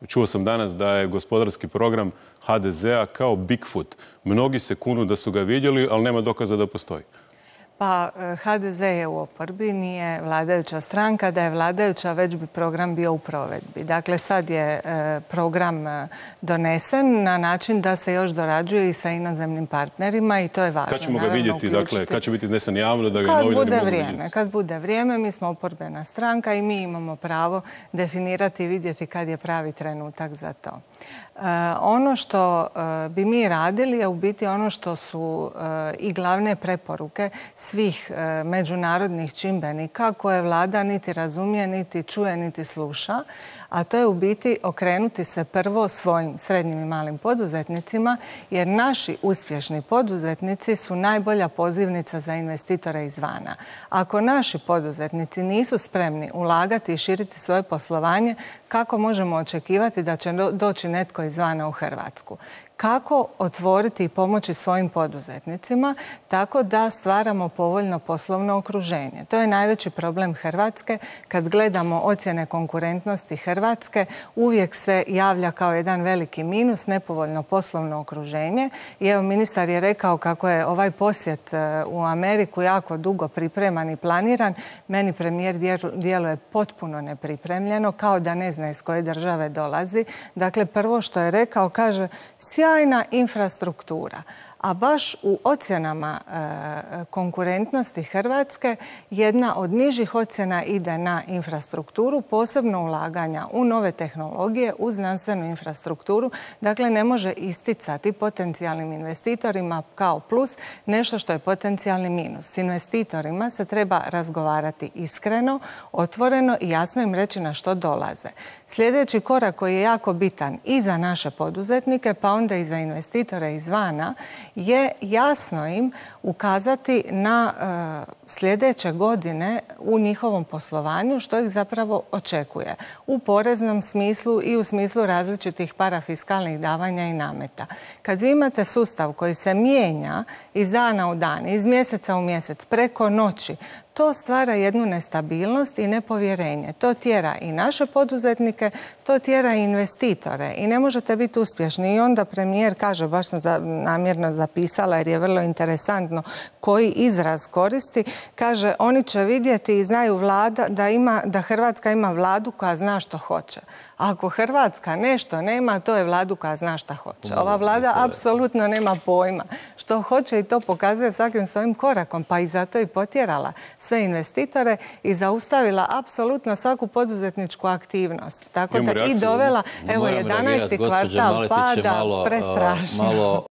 Čuo sam danas da je gospodarski program HDZ-a kao Bigfoot. Mnogi se kunu da su ga vidjeli, ali nema dokaza da postoji. Pa HDZ je u oporbi, nije vladajuća stranka. Da je vladajuća, već bi program bio u provedbi. Dakle, sad je program donesen na način da se još dorađuje i sa inozemnim partnerima i to je važno. Kad ćemo ga vidjeti? Dakle, kad će biti iznesen javno da ga novinari mogu vidjeti? Kad bude vrijeme, mi smo oporbena stranka i mi imamo pravo definirati i vidjeti kad je pravi trenutak za to. Ono što bi mi radili je u biti ono što su i glavne preporuke svih međunarodnih čimbenika koje vlada niti razumije, niti čuje, niti sluša, a to je u biti okrenuti se prvo svojim srednjim i malim poduzetnicima, jer naši uspješni poduzetnici su najbolja pozivnica za investitore izvana. Ako naši poduzetnici nisu spremni ulagati i širiti svoje poslovanje, kako možemo očekivati da će doći netko izvana u Hrvatsku? Kako otvoriti i pomoći svojim poduzetnicima tako da stvaramo povoljno poslovno okruženje. To je najveći problem Hrvatske. Kad gledamo ocjene konkurentnosti Hrvatske, uvijek se javlja kao jedan veliki minus, nepovoljno poslovno okruženje. I evo, ministar je rekao kako je ovaj posjet u Ameriku jako dugo pripreman i planiran. Meni premijer djeluje potpuno nepripremljeno, kao da ne zna iz koje države dolazi. Dakle, prvo što je rekao, kaže, sjajna infrastruktura. A baš u ocjenama konkurentnosti Hrvatske jedna od nižih ocjena ide na infrastrukturu, posebno ulaganja u nove tehnologije, u znanstvenu infrastrukturu. Dakle, ne može isticati potencijalnim investitorima kao plus nešto što je potencijalni minus. S investitorima se treba razgovarati iskreno, otvoreno i jasno im reći na što dolaze. Sljedeći korak koji je jako bitan i za naše poduzetnike, pa onda i za investitore izvana, je jasno im ukazati na sljedeće godine u njihovom poslovanju što ih zapravo očekuje u poreznom smislu i u smislu različitih parafiskalnih davanja i nameta. Kad vi imate sustav koji se mijenja iz dana u dan, iz mjeseca u mjesec, preko noći, to stvara jednu nestabilnost i nepovjerenje. To tjera i naše poduzetnike, to tjera i investitore i ne možete biti uspješni. I onda premijer kaže, baš sam namjerno zapisala jer je vrlo interesantno koji izraz koristi, kaže oni će vidjeti i znaju da Hrvatska ima vladu koja zna što hoće. Ako Hrvatska nešto nema, to je vladu koja zna što hoće. Ova vlada apsolutno nema pojma što hoće i to pokazuje svakim svojim korakom, pa i zato i potjerala sve investitore i zaustavila apsolutno svaku poduzetničku aktivnost. Tako da i dovela, evo, 11. kvartal pada, prestrašno.